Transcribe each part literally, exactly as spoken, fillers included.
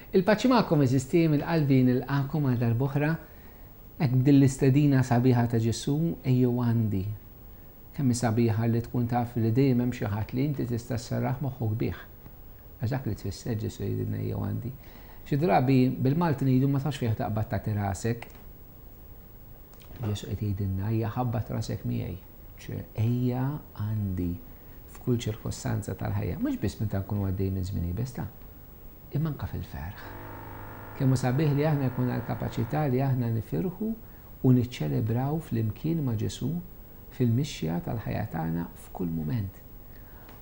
Il-paċi magħkom għeżież tiegħi, mill-qalbi nilqagħkom għal darb'oħra hekk b'din l-istedina sabiħa ta' Ġesù, ejjew għandi. Kemm hi sabiħa li tkun taf li dejjem hemm xi ħadd li inti tista' sserraħ moħħok bih. Għax dak li tfisser Ġesù jgħidilna ejjew għandi. Xi drabi bil-Malti ngħidu ma tafx fejn taqbad tagħti rasek. Ġesù qed jgħidilna ejja ħabbat rasek miegħi. Ċe ejja għandi f'kull ċirkostanza tal-ħajja, mhux biss meta nkunu għaddej minn żmien iebes ta' imma anke fil-ferħ. Kemm hu sabiħ li aħna jkollna l-kapaċità li aħna nifirħu u niċċelebraw flimkien ma' Ġesù fil-mixja tal-ħajja tagħna f'kull mument.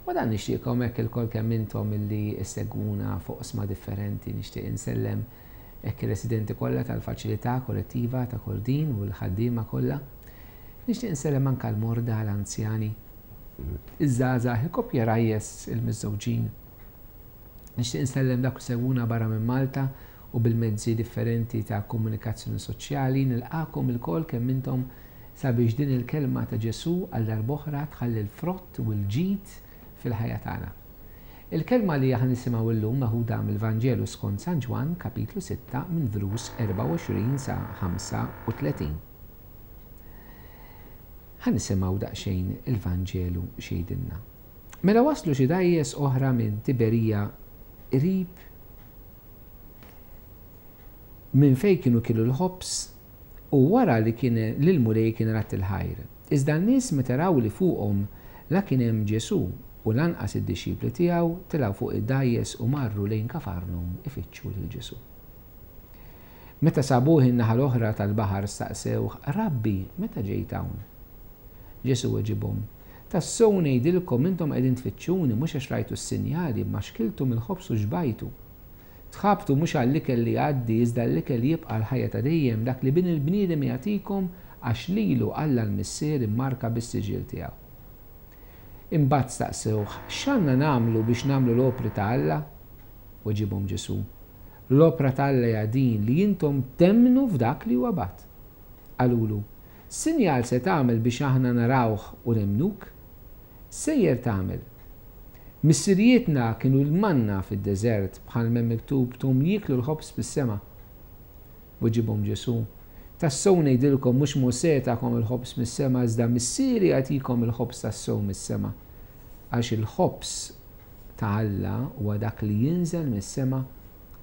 U dan nixtieqkom hekk ilkoll kemm intom illi ssegwuna fuq oqsma differenti, nixtieq insellem hekk ir-residenti kollha tal-faċilità kollettiva ta' Kordin u l-ħaddiema kollha. Nixtieq insellem anke l-morda, l-anzjani, iż-żgħażagħ, il-koppji rajjes, il-miżżewġin. Nixtieq insellem dak li segwuna barra minn Malta u bil-mezzi differenti ta' komunikazzjoni soċjali. Nilqagħkom ilkoll kemm intom sabiex din il-kelma ta' Ġesù għal darb'oħra tħalli l-frott u l-ġid fil-ħajja tagħna. Il-kelma li aħna nisimgħu llum meħuda mill-Vanġelu skont San Ġwann, kapitlu sitta, minn vrus erbgħa u għoxrin sa ħamsa u tletin. Ħa nisimgħu daqsxejn il-Vanġelu x'jgħidilna. Mela waslu xi dgħajjes oħra minn Tiberija qrib minn fejn kienu kielu l-ħobż u wara li kien lil Mulej kien ratt il-ħajr. Iżda n-nies meta raw li fuqhom la kien hemm Ġesù u lanqas id-dixxipli tiegħu, tilgħu fuq id-dgħajjes u marru lejn Kafarnum ifittxu lil Ġesù. Meta sabuh in-naħa l-oħra tal-baħar staqsewh, Rabbi, meta ġejt hawn? Ġesù weġibhom, Tassew ngħidilkom intom qegħdin tfittxuni mhux għax rajtu s-sinjali, imma xkiltu mill-ħobż u xbajtu. Tħabtu mhux għall-ikel li jgħaddi, iżda l-ikel jibqa' l-ħajja ta' dejjem, dak li bin il-bniedem jagħtikom għax lilu Alla l-Missier immarka bis-siġill tiegħu. Imbagħad staqsewh, x'għandna nagħmlu biex nagħmlu l-opri ta' Alla? Weġibhom Ġesù, l-opra ta' Alla hija din li intom temmnu f'dak li huwa bagħat. Qalulu, sinjal se tagħmel biex aħna narawh u nemmnuk? Sejjer tagħmel. Missirijietna kienu l-manna fid-deżert bħal m'hemm miktub tum jieklu l-ħobż bis-sema. Weġibhom Ġesù, tassew ngħidilkom mhux Mosè tagħkom il-ħobż mis-sema, iżda Missieri jagħtikom il-ħobż tassew mis-sema. Għax il-ħobż ta' Alla huwa dak li jinżel mis-sema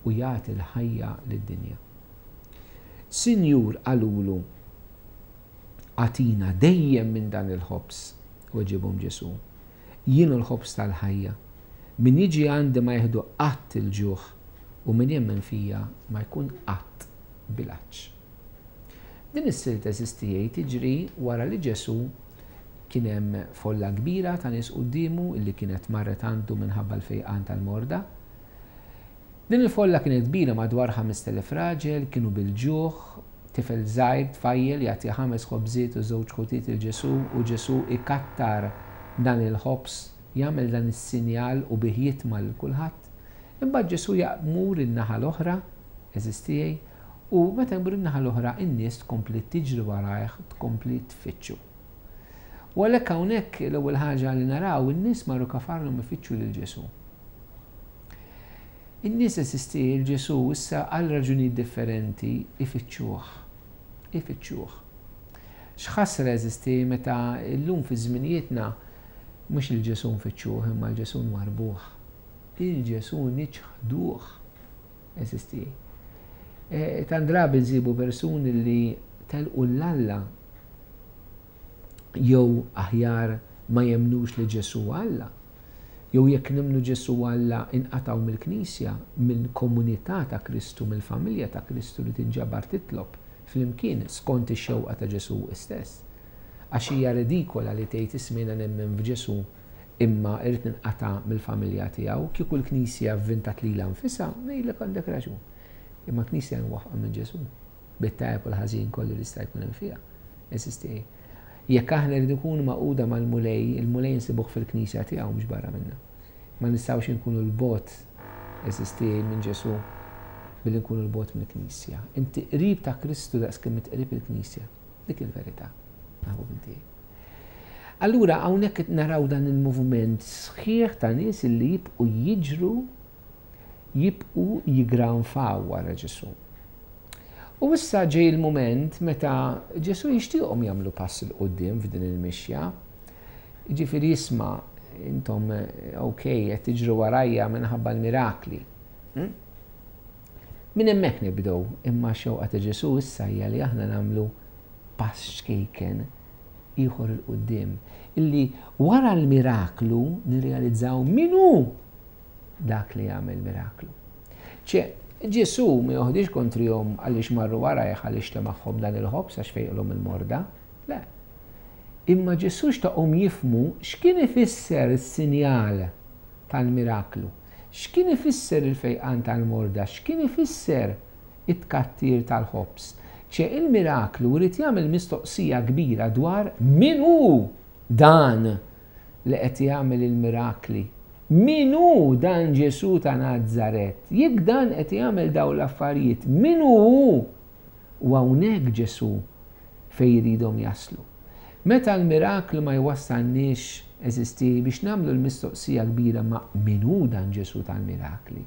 u jagħti l-ħajja lid-dinja. Sinjur, qalulu, agħtina dejjem minn dan il-ħobż. Weġibhom Ġesù, jien hu l-ħobż tal-ħajja. Min jiġi għandi ma jieħdu qatt il-ġuħ u min jemmen fija ma jkun qatt bil-għatx. Din is-silta eżistijaj tiġri wara li Ġesù kien hemm folla kbira ta' nies quddiemu illi kienet marret għandu minħabba l-fejqan tal-morda. Din il-folla kienet kbira madwar ħamest elef raġel, kienu bil-ġuħ, tifel żgħir, tfajjel jagħti ħames ħobżiet u żewġ ħutiet il Ġesù u Ġesù ikattar dan il-ħobż, jagħmel dan is-sinjal u bih jitma' lil kulħadd. Imbagħad Ġesù jmur in-naħa l-oħra, eżistijaj, u meta jmur in-naħa l-oħra in-nies tkompli tiġri warajh, tkompli tfittxu. U għalhekk hawnhekk l-ewwel ħaġa li naraw in-nies marru Kafarnum ifittxu lil Ġesù. In-nies eżisti lil Ġesù issa għal raġunijiet differenti ifittxuh. Ifittxuh. X'ħasra eżisti meta llum fi żminijietna mhux il Ġesù nfittxuh imma l Ġesù nwarbuh. Il Ġesù niċħduh. Eżisti. E, tant drabi nsibu persuni li telqu l-Alla jew aħjar ma jemnux li Ġesù Alla. Jew jekk nemmnu Ġesù Alla inqatgħu mill-Knisja, mill-komunità ta' Kristu, mill-familja ta' Kristu li tinġabar titlob flimkien skont ix-xewqa ta' Ġesù stess. Għax hija redikola li tgħid ismejna nemmen f'Ġesù imma irrid ninqata' mill-familja tiegħu, kieku l-Knisja vvintat lilha nfisha, ngħidlek għandek raġun. Imma l-Knisja nwaffqa minn Ġesù, bit-tajjeb u l-ħażin kollu li jista' jkun hemm fiha. Eżisti. Jekk aħna rridu nkunu magħquda mal-Mulej, il-Mulej nsibuh fil-Knisja tiegħu mhux barra minnha. Ma nistgħux inkunu l-bogħod eżisti minn Ġesù billi nkunu l-bogħod mill-Knisja. Inti qrib ta' Kristu daqs kemm qrib il-Knisja. Dik il-verità. Naħbu binti. Allura hawnhekk naraw dan il-moviment sħiħ ta' nies li jibqgħu jiġru jibqu jigranfaw wara Ġesù. U issa ġej il-mument meta Ġesù jixtieqhom jagħmlu pass 'il quddiem f'din il-mixja. Jiġifieri isma', intom ok, qed tiġru warajja minħabba l-mirakli. Hm? Minn hemmhekk nibdew, imma xewqa ta' Ġesù issa hija li aħna nagħmlu pass ċkejken ieħor 'il quddiem, illi wara l-miraklu nirrealizzaw min hu dak li jagħmel miraklu. Ċe, Ġesù ma joħdix kontrihom għaliex marru warajh għaliex temagħhom dan il-ħobż għax fejqilhom il-morda. Le. Imma Ġesù xtaqhom jifhmu x'kien ifisser is-sinjal tal-miraklu, x'kien ifisser il-fejqan tal-morda, x'kien ifisser it-tkattir tal-ħobż. Ċe il-miraklu rrid jagħmel mistoqsija kbira dwar min hu dan li qed jagħmel il-mirakli. Min hu dan Ġesù ta' Nazaret? Jekk dan qed jagħmel dawn l-affarijiet, min hu? U hawnhekk Ġesù fejn jridhom jaslu. Meta l-miraklu ma jwassalniex, eżisti, biex nagħmlu l-mistoqsija kbira ma' min hu dan Ġesù tal-mirakli.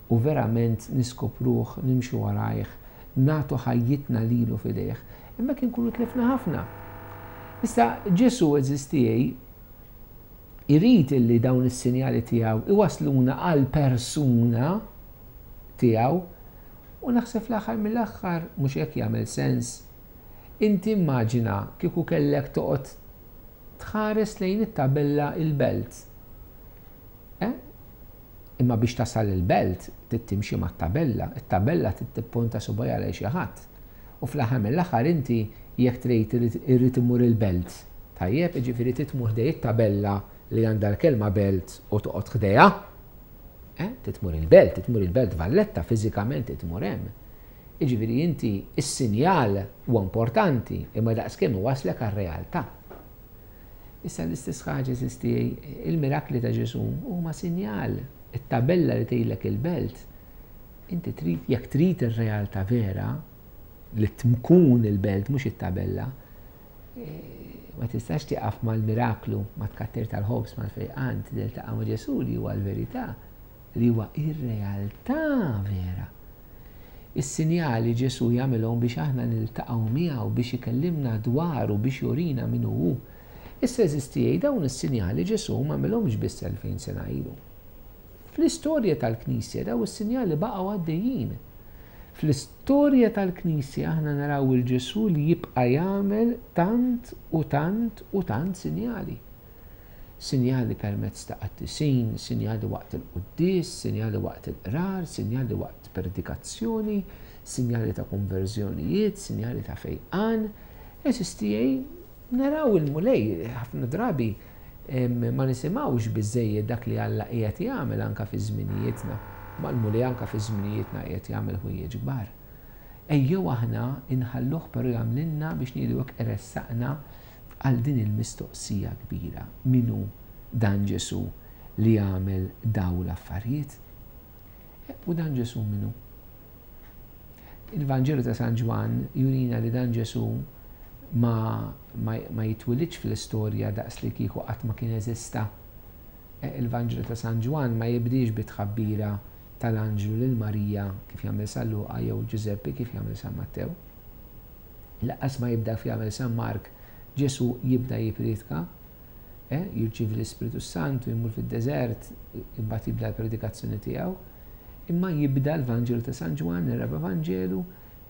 U verament niskopruh, nimxu warajh, nagħtu ħajjitna lilu f'idejh, hemmhekk inkunu tlifna ħafna. Issa Ġesù, eżisti, irid illi dawn is-sinjali tiegħu iwasluna għal persuna tiegħu, u naħseb fl-aħħar mill-aħħar mhux hekk jagħmel sens. Inti immaġina kieku kellek toqgħod tħares lejn it-tabella il-belt. Eh? Imma biex tasal il-belt trid timxi mat-tabella, it-tabella trid tipponta subgħajha lejn xi ħadd. U fl-aħħar mill-aħħar inti jekk trid irrid imur il-belt. Tajjeb, jiġifieri trid tmur ħdej it-tabella li għandha l-kelma belt u toqgħod ħdejha. Eh? Trid tmur il-belt, trid tmur il-belt Valletta, fiżikament trid tmur hemm. Jiġifieri inti is-sinjal huwa importanti, imma daqskemm iwaslek għar-realtà. Issa l-istess ħaġa, eżisti, il-mirakli ta' Ġesù huma sinjal, it-tabella li tgħidlek il-belt. Inti trid, jekk trid ir-realtà vera, li tkun il-belt mhux it-tabella, ma tistax tieqaf mal-miraklu, ma tkattir tal-ħobż, mal-fejqan, tiltaqa' ma' Ġesù li huwa l-verità, li huwa ir-realtà vera. Is-sinjali Ġesù jagħmilhom biex aħna niltaqgħu miegħu, biex ikellimna dwaru, biex jurina min hu. Issa, eżisti, dawn is-sinjali Ġesù ma għamilhomx biss elfejn sena ilu. Fl-istorja tal-Knisja dawn is-sinjali baqgħu għaddejjin. Fl-istorja tal-Knisja aħna naraw il-Ġesù li jibqa' jagħmel tant u tant u tant sinjali. Sinjali permezz ta' qaddisin, sinjali waqt il-quddies, sinjali waqt il-qrar, sinjali waqt predikazzjoni, sinjali ta' konverżjonijiet, sinjali ta' fejqan. Eżisti, naraw il-Mulej ħafna drabi ma nisimgħux biżejjed dak li Alla qiegħed jagħmel anke fi żminijietna. Ma l-Mulej anke fi żminijietna qiegħed jagħmel ħwejjeġ kbar. Ejjew aħna inħalluh però jagħmlilna biex ngħidu hekk iressaqna għal din il-mistoqsija kbira. Min hu dan Ġesù li jagħmel dawn l-affarijiet? U dan Ġesù min hu? Il-Vanġelu ta' San Ġwann jurina li dan Ġesù ma, ma, ma jitwilidx fl-istorja daqs li kieku qatt ma kien eżista. Il-Vanġelu ta' San Ġwann ma jibdiex bit-tħabbira tal-anġlu lil Marija kif jagħmel San Luqa jew Ġużeppi kif jagħmel San Mattew. Lanqas ma jibda kif jagħmel San Mark, Ġesù jibda jippriedka, eh, jirċievi l-Ispiritu Santu, jmur fid-deżert, imbagħad jibda l-predikazzjoni tiegħu. Imma jibda l-Vanġelu ta' San Ġwann, ir-raba' Vanġelu,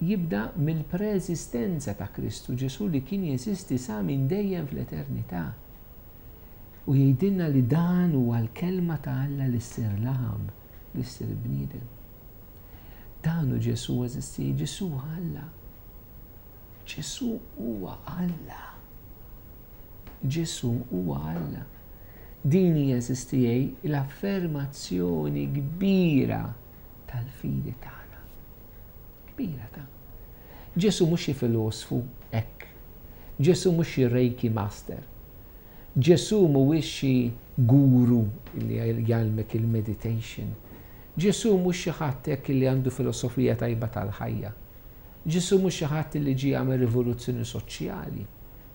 jibda mill-preeżistenza ta' Kristu Ġesù li kien jeżisti sa minn dejjem fl-eternità. U jgħidilna li dan huwa l-kelma ta' Alla li ssir laħam, li ssir bniedem. Dan hu Ġesù, eżisti, Ġesù Alla. Ġesù huwa Alla. Ġesù huwa Alla. Din hija, eżisti, l-affermazzjoni kbira tal-fidi tagħna. Kbira ta' Ġesù mhux xi filosfu hekk. Ġesù mhux xi Reiki master. Ġesù mhuwiex xi guru li jgħallmek il-meditation. Ġesù mhux xi ħadd hekk li għandu filosofija tajba tal-ħajja. Ġesù mhux xi ħadd li ġie jagħmel rivoluzzjoni soċjali.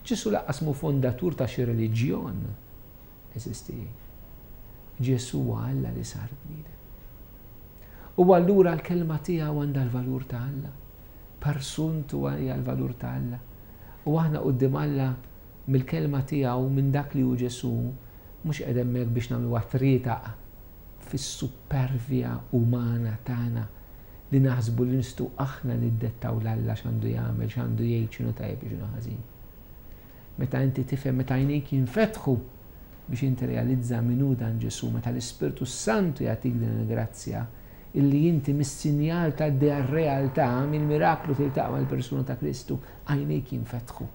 Ġesù lanqas mhu fondatur ta' xi reliġjon. Eżisti. Ġesù huwa Alla li sar bniedem. U allura l-kelma tiegħu għandha l-valur ta' Alla. Persuntu hija l-valur ta' Alla. U aħna quddiem Alla mill-kelma tiegħu, minn dak li hu Ġesù, mhux qed hemmhekk biex nagħmlu trietaq fis-supervja umana tagħna li naħsbu li nistgħu aħna niddettaw 'l Alla x'għandu jagħmel, x'għandu jgħid, x'inhu tajjeb, x'inhu ħażin. Meta inti tifhem, meta għajnejk jinfetħu biex inti realizza min hu dan Ġesù, meta l-Ispirtu Santu jagħtik din il-grazzja, illi inti mis-sinjal ta' realtà, mill-miraklu tiltaqa' mal-persuna ta' Kristu, għajnejk jinfetħu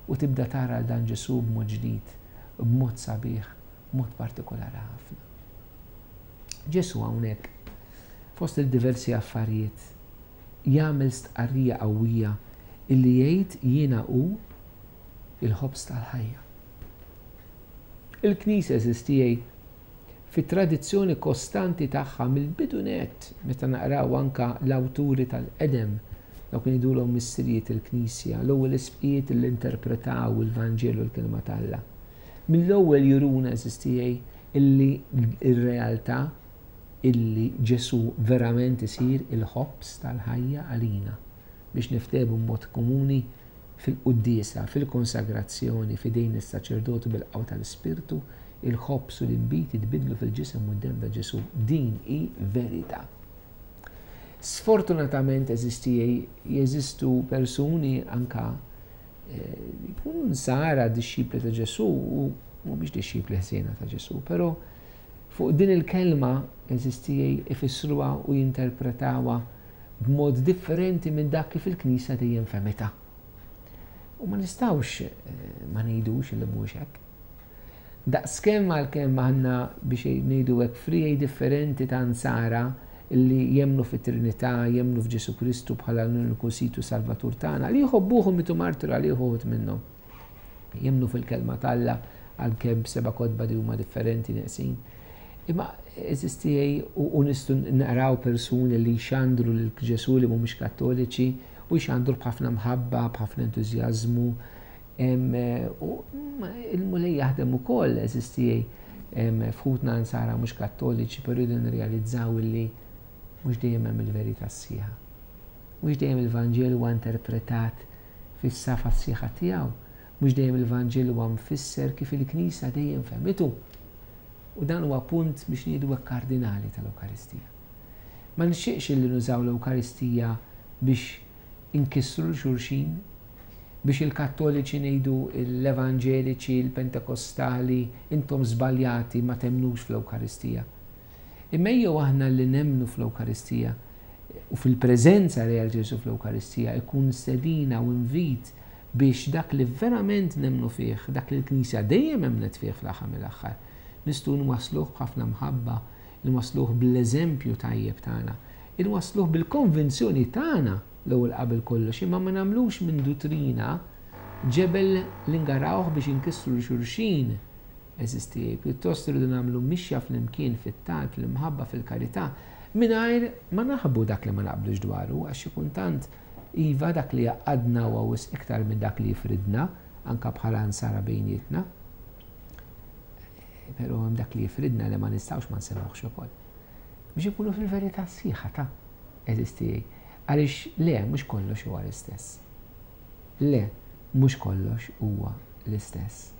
u tibda tara dan Ġesù b'mod ġdid, b'mod sabiħ, b'mod partikolari ħafna. Ġesù hawnhekk, fost il-diversi affarijiet, jagħmel stqarrija qawwija illi jgħid jiena hu il-ħobż tal-ħajja. Il-Knisja, għeżież tiegħi, fit-tradizzjoni kostanti tagħha mill-bidu nett, meta naqraw anka l-awturi tal-qedem, dawk li ngħidulhom missirijiet il-Knisja, l-ewwel isqfijiet li interpretaw il-Vanġelu, l-kelma t'Alla. Mill-ewwel juruna, għeżież tiegħi, illi ir-realtà illi Ġesù verament isir il-ħobż tal-ħajja għalina, biex niftehmu mod komuni, fil-quddiesa, fil-konsagrazzjoni, f'idejn is-saċerdotu bil-qawwa tal-Ispirtu, il-ħobż u l-inbid jitbidlu fil-ġisem u d-dem ta' Ġesù. Din hi verità. Sfortunatament, għeżież tiegħi, jeżistu persuni anka jkunu nsara, dixxipli ta' Ġesù u mhumiex dixxipli ħsiena ta' Ġesù, però fuq din il-kelma, għeżież tiegħi, ifissruha u jinterpretawha b'mod differenti minn dak kif il-Knisja dejjem fehmitha. U ma nistgħux ma ngħidux li mhux hekk. Daqskemm għalkemm aħna, biex ngħidu hekk, friegħi differenti ta' nsara li jemmnu fit-Trinità, jemmnu f'Ġesù Kristu bħala l-uniku Sid u Salvatur tagħna, li jħobbuh u mietu martri għalih uħud minnhom. Jemmnu fil-kelma t'Alla għalkemm seba' kotba li huma differenti, neqsin. Imma, għeżież tiegħi, u nistgħu naqraw persuni li jxandru lil Ġesù li mhumiex Kattoliċi u jxandru b'ħafna mħabba, b'ħafna entużjażmu. U il-Mulej jaħdem ukoll, għeżież tiegħi, f'ħutna nsara mhux Kattoliċi, però jridu nirrealizzaw illi mhux dejjem hemm il-verità sħiħa. Mhux dejjem il-Vanġelu huwa interpretat fis-safa sħiħa tiegħu, mhux dejjem il-Vanġelu huwa mfisser kif il-Knisja dejjem fehmitu. U dan huwa punt, biex ngħidu hekk, kardinali tal-Ewkaristija. Ma nixtieqx li nużaw l-Ewkaristija biex inkissru 'l xulxin, biex il-Kattoliċi ngħidu l-Evanġeliċi, il-Pentekostali, intom żbaljati, ma temmnux fl-Ewkaristija. Imma ejjew aħna li nemmnu fl-Ewkaristija u fil-preżenza real Ġesù fl-Ewkaristija, ikun stedina u invit biex dak li verament nemmnu fih, dak li l-Knisja dejjem emnet fih fl-aħħar mill-aħħar, nistgħu nwasluh b'ħafna mħabba, nwasluh bl-eżempju tajjeb tagħna, nwasluh bil-konvinzjoni tagħna l-ewwel qabel kollox, imma ma nagħmlux minn duttrina ġebel li ngarawh biex inkissru 'l xulxin, għeżież tiegħi. Pjuttost irridu nagħmlu mixja flimkien fit-talb, fil-mħabba, fil-karità, mingħajr ma naħbu dak li ma naqblux dwaru, għax xi kultant iva, dak li jgħaqqadna huwa wisq iktar minn dak li jifridna, anka bħala nsara bejnietna. Però hemm dak li jifridna li ma nistgħux ma nsemmuhx ukoll. Biex ikunu fil-verità sħiħa ta', għeżież tiegħi. Għaliex le, mhux kollox huwa l-istess. Le, mhux kollox huwa l-istess.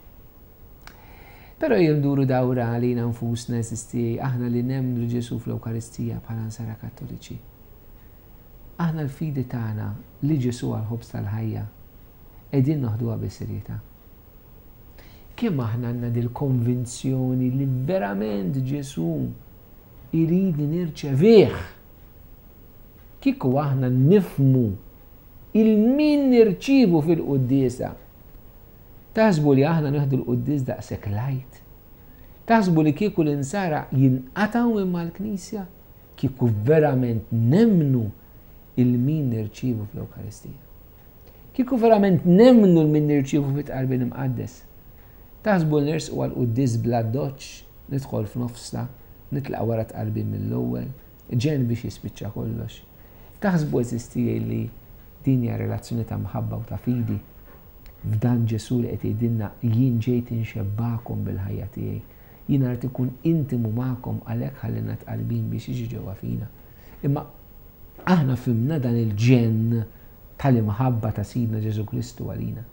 Però nduru dawra għalina nfusna, għeżież tiegħi, aħna li nemmnu Ġesù fl-Ewkaristija bħala nsara Kattoliċi. Aħna l-fidi tagħna li Ġesù għall-ħobż tal-ħajja qegħdin noħduha bis-serjetà? Kemm aħna għandna dil-konvinzjoni li verament Ġesù irid nirċevih? Kieku aħna nifhmu 'il min nirċivu fil-quddiesa, taħsbu li aħna nieħdu l-quddies daqshekk light? Taħsbu li kieku l-insara jinqatgħu minn mal-Knisja? Kieku verament nemmnu 'il min nirċivu fl-Ewkaristija. Kieku verament nemmnu 'l min nirċivu fit-Tqarbin Imqaddes. Taħsbu nersqu għal-quddies bl-addoċċ, nidħol f'nofsa, nitlaq wara tqarbin mill-ewwel, ġen biex jispiċċa kollox? Taħsbu, għeżież tiegħi, li din hija relazzjoni ta' mħabba u ta' fidi f'dan Ġesù li qed jgħidilna: "Jien ġejt inxebbakom bil-ħajja tiegħi. Jien rrid ikun intimu magħkom, għalhekk ħallejna tqarbin biex jiġi ġewwa fina"? Imma aħna fhimna dan il-ġenn tal-imħabba ta' Sidna Ġesù Kristu għalina.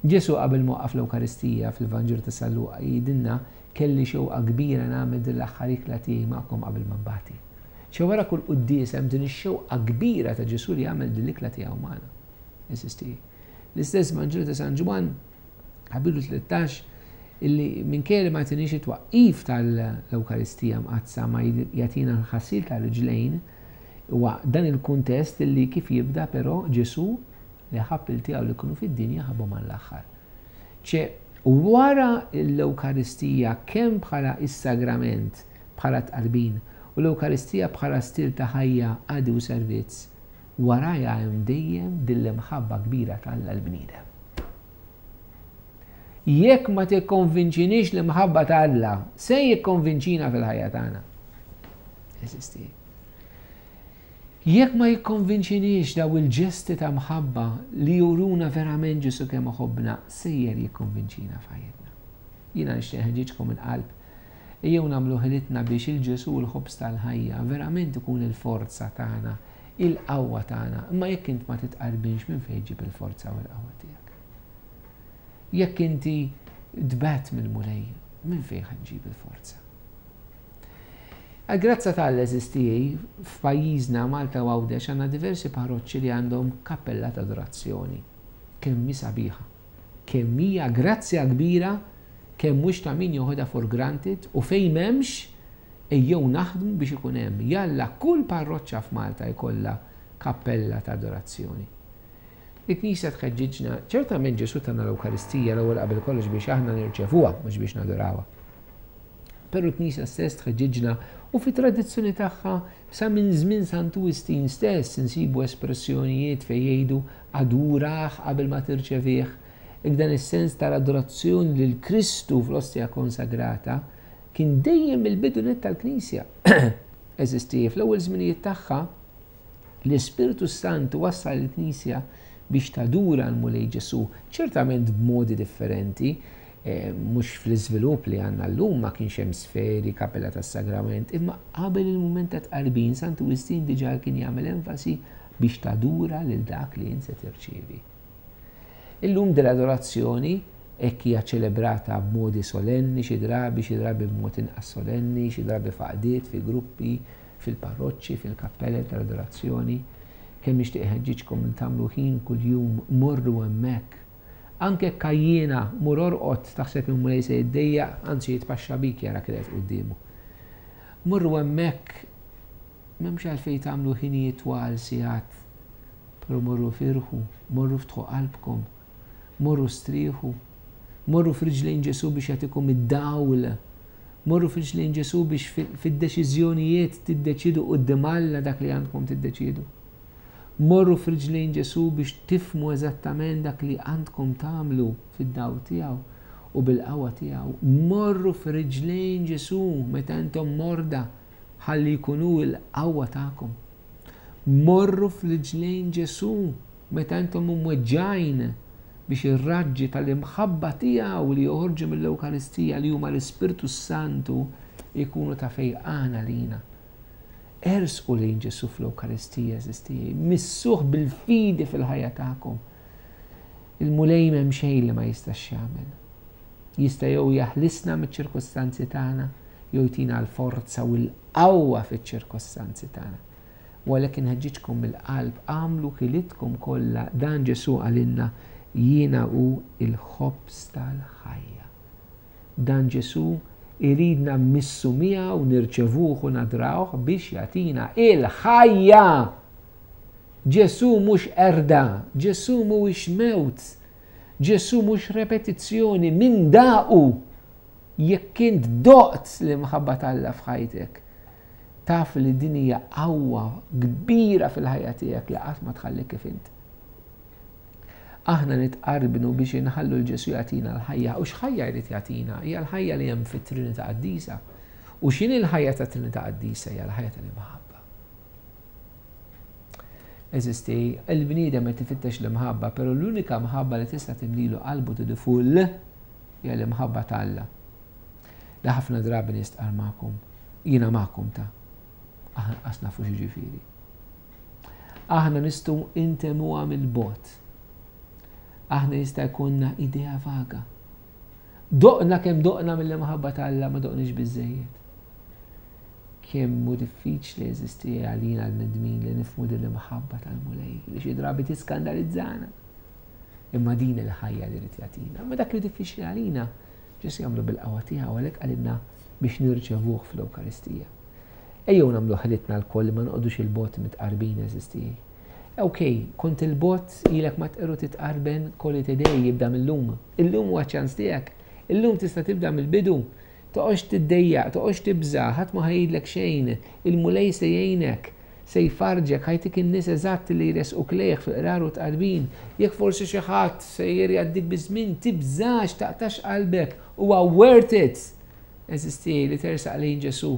Ġesù qabel ma waqqaf l-Ewkaristija fil-Vanġelu ta' San Luqa jgħidilna kelli xewqa kbira nagħmel din l-aħħar ikla tiegħi magħkom qabel ma nbati. Ċe wara kull quddies hemm din ix-xewqa kbira ta' Ġesù li jagħmel din l-ikla tiegħu magħna. Eżisti. L-istess Vanġelu ta' San Ġwann, kapitlu tlettax, illi minkejja li ma jagħtinix it-twaqqif tal-Ewkaristija mqaddsa ma jagħtina l-ħasil tal-riġlejn, huwa dan il-kuntest illi kif jibda però Ġesù li ħabb il tiegħu li kienu fid-dinja ħabbhom għall-aħħar. Ċe wara l-Ewkaristija kemm bħala is-sagrament, bħala tqarbin, u l-Ewkaristija bħala stil ta' ħajja, qadi u servizz, warajha hemm dejjem din l-imħabba kbira t'Alla l-bniedem. Jekk ma tikkonvinċinix l-imħabba ta' Alla, se jikkonvinċina fil-ħajja tagħna. Eżisti. Jekk ma jikkonvinċinix daw il-ġesti ta' mħabba li juruna verament Ġesù kemm iħobbna, sejjer jikkonvinċina f'ħajjitna. Jiena nixtieq nħeġġiġkom il-qalb. Ejjew nagħmlu ħilitna biex il-Ġesù l-ħobż tal-ħajja verament ikun il-forza tagħna, il-qawwa tagħna. Imma jekk int ma titqarbinx, minn fejn ġib il-forza u l-qawwa tiegħek? Jekk inti tbegħedt mill-Mulej, minn fejn ħa ġġib il-forza? Għal-grazza tal-eżistijaj, f'pajjiżna Malta u Għawdex għandna diversi parroċċi li għandhom kappella ta' adorazzjoni. Kemm hi sabiħa, kemm hija grazzja kbira, kemm mhux ta' min joħodha for granted, u fejn m'hemmx ejjew naħdmu biex ikun hemm. Jalla kull parroċċa f'Malta jkollha kappella ta' adorazzjoni. Il-Knisja tħeġġiġna, ċertament Ġesù tana l-Ewkaristija l-ewwel qabel kollox biex aħna nirċevuha, mhux biex nadorawha. Però l-Knisja stess tħeġġiġna u fi tradizzjoni tagħha sa minn żmien Santu Wistin stess insibu espressjonijiet fejn jgħidu adurah qabel ma tirċevih. Ik dan is-sens tal-adorazzjoni lil Kristu fl-ostja konsagrata kien dejjem il-bidu net tal-Knisja. Eżisti, fl-ewwel żminijiet tagħha l-Ispirtu Santu wassal il-Knisja biex tadura l-Mulej Ġesù, ċertament b'modi differenti, eh, mhux fl-iżvilupp li għandna llum ma kienx hemm sferi, kappella tas-sagrament, imma qabel il-mument ta' tqarbin Santu Wistin diġà kien jagħmel enfasi biex tadura lil dak li int se tirċievi. Illum dell-adorazzjoni hekk hija ċelebrata b'modi solenni, xi drabi, xi drabi b'mod inqas solenni, xi drabi f'għaqdiet, fi gruppi, fil-parroċċi, fil-kappelle tal-adorazzjoni. Kemm nixtieq ħeġġiġkom li tagħmlu ħin kuljum morru hemmhekk. Anke kajjina mur orqod taħseb il-Mulej se jiddejjaq, anzi jitpaxxa bik jara kif qed quddiemu. Morru hemmhekk, m'hemmx għalfejn tagħmlu ħinijiet twal sigħat, però morru firħu, morru ftħu qalbkom, morru strieħu, morru f'riġlejn Ġesù biex jagħtikom id-dawl, morru f'riġlejn Ġesù biex fid-deċiżjonijiet tiddeċidu quddiem Alla dak li għandkom tiddeċidu. Morru f'riġlejn Ġesù biex tifhmu eżattament dak li għandkom tagħmlu fid-dawl tiegħu u bil-qawwa tiegħu. Morru f'riġlejn Ġesù meta intom morda ħalli jkunu l-qawwa tagħkom. Morru f'riġlejn Ġesù meta intom imweġġgħin biex ir-raġġi tal-imħabba tiegħu li joħorġu mill-Ewkaristija li huma l-Ispirtu Santu jkunu ta' fejqan għalina. Ersqu lejn Ġesù fl-Ewkaristija, eżisti, missuh bil-fidi fil-ħajja tagħkom. Il-Mulej m'hemm xejn li ma jistax jagħmel. Jista' jew jaħlisna miċ-ċirkostanzi tagħna, jew jtina l-forza u l-qawwa fiċ-ċirkostanzi tagħna. U għalhekk inħeġġiġkom mill-qalb, agħmlu ħilitkom kollha, dan Ġesù qalilna, jiena hu il-ħobż tal-ħajja. Dan Ġesù iridna mmissu miegħu, nirċevuh u nadrawh biex jagħtina il-ħajja. Ġesù mhux qerda, Ġesù mhuwiex mewt, Ġesù mhux repetizzjoni minn daqu. Jekk int doqt l-imħabba t'Alla f'ħajtek, taf li din hija qawwa kbira fil-ħajja tiegħek li qatt ma tħallik kif int. Aħna nitqarbnu biex inħallu l-Ġesù jagħtina l-ħajja. U x'ħajja jrid jagħtina? Hija l-ħajja li hemm fit-Trinità Qaddisa. U x'inhi l-ħajja ta' Trinità Qaddisa? Hija l-ħajja tal-imħabba. Eżisti, il-bniedem qed ifittex l-imħabba, però l-unika mħabba li tista' timlilu qalbu to the full hija l-imħabba ta' Alla. Li ħafna drabi nistqar magħkom, jiena magħkom ta' Aħna qas nafu x'jiġifieri. Aħna nistgħu intemmuha mill-bogħod. Aħna jista' jkollna idea vaga. Doqna kemm doqna mill-imħabba ta' Alla, ma doqniex biżejjed. Kemm hu diffiċli, għeżież tiegħi, għalina l-bnedmin li nifhmu din l-imħabba tal-Mulej li xi drabi tiskandalizzana. Imma din il-ħajja li jrid jagħtina. Ma dak li diffiċli għalina, Ġesù jagħmlu bil-qawwa tiegħu, għalhekk qalilna biex nirċevuh fl-Ewkaristija. Ejjew nagħmlu ħilitna lkoll ma noqogħdux 'il bogħod mit-tqarbin, għeżież tiegħi. Ok, kont 'il bogħod, ilek ma tqerru titqarben, call it a day, jibda mill-lum. Illum huwa ċans tiegħek. Illum tista' tibda mill-bidu. Toqgħodx tiddejjaq, toqgħodx tibża, ħadd ma ħa jgħidlek xejn, il-Mulej se jgħinek, se jfarġek, ħa jtik in-nies eżatt li jresquk lejh fil-qrar u tqarbin. Jekk forsi xi ħadd se jgħaddik biż-żmien, tibżax, taqtax qalbek, huwa worth it. Għeżież tiegħi, li tersaq lejn Ġesù.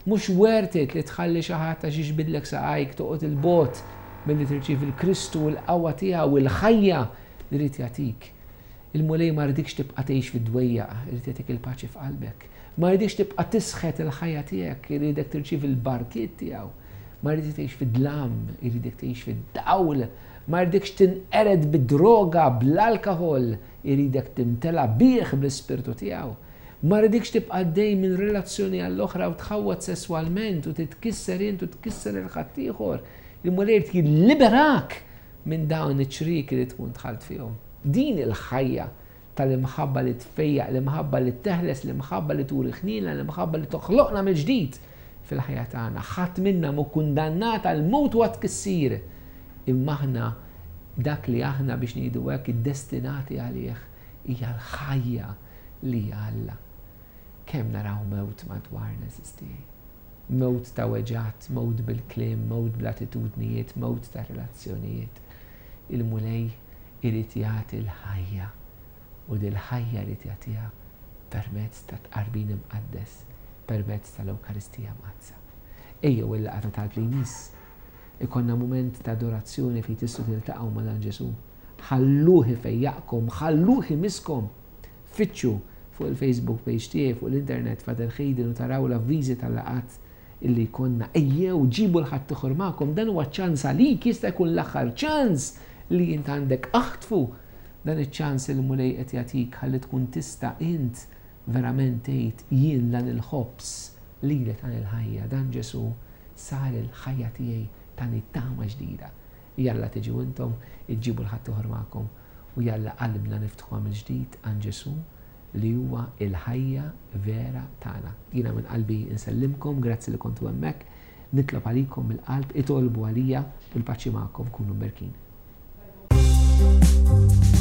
Mhux worth it li tħalli xi ħadd għax jiġbidlek saqajk toqgħod 'il bogħod milli tirċievi l-Kristu u l-qawwa tiegħu u l-ħajja li jrid jagħtik. Il-Mulej ma jridikx tibqa' tgħix fid-dwejjaq, irid jagħtik il-paċi f'qalbek. Ma jridx tibqa' tisħet il-ħajja tiegħek, iridek tirċievi l-barkiet tiegħu. Ma jridx tgħix fid-dlam, iridek tgħix fid-dawl. Ma jridekx tinqered bid-droga, bl-alkohol, iridek timtela bih, bl-ispirtu tiegħu. Ma jridekx tibqa' dej minn relazzjoni għall-oħra u tħawwad sesswalment u titkisser int u tkisser lil ħaddieħor. Il-Mulej jilliberak minn dawn iċ-ċrieki li tkun dħalt fihom. Din il-ħajja tal-imħabba li tfejjaq, l-imħabba li teħles, l-imħabba li turi ħniena, l-imħabba li toħloqna mill-ġdid fil-ħajja tagħna. Ħadd minna mhu kundannat għal mewt u tkissir. Imma aħna dak li aħna, biex ngħidu hekk, iddestinati għalih hija l-ħajja li Alla. Kemm naraw mewt madwarna, għeżież tiegħi. Mewt ta' weġgħat, mewt bil-kliem, mewt bl-attitudnijiet, mewt ta' relazzjonijiet. Il-Mulej irid jagħti l-ħajja u dil-ħajja li jagħtiha permezz ta' tqarbin imqaddes, permezz tal-Ewkaristija Mqaddsa. Ejjew il-laqgħa ta' talb li jmiss. Ikollna moment ta' adorazzjoni fejn tistgħu tiltaqgħu ma' dan Ġesù. Ħalluh ifejjaqkom, ħalluh imisskom. Fittxu fuq il-Facebook page tiegħi fuq l-internet, Father Hayden, u taraw l-avviżi tal-laqgħat illi jkollna. Ejjew, ġibu 'l ħaddieħor magħkom, dan huwa ċans għalik, jista' jkun l-aħħar ċans li int għandek. Aħtfu dan iċ-ċans il Mulej qed jagħtik ħalli tkun tista' int verament tgħid: "Jien dan il-ħobż li li tani l-ħajja, dan Ġesù sar il-ħajja tiegħi, tani tama ġdida." Jalla tiġu intom, iġġibu 'l ħaddieħor magħkom u jalla qalbna niftħuha mill-ġdid għand Ġesù li huwa il-ħajja vera tagħna. Jiena minn qalbi nsellimkom, grazzi li kontu hemmhekk, nitlob għalikom mill-qalb, itolbu għalija, il-paċi magħkom, kunu mberkin. Thank you.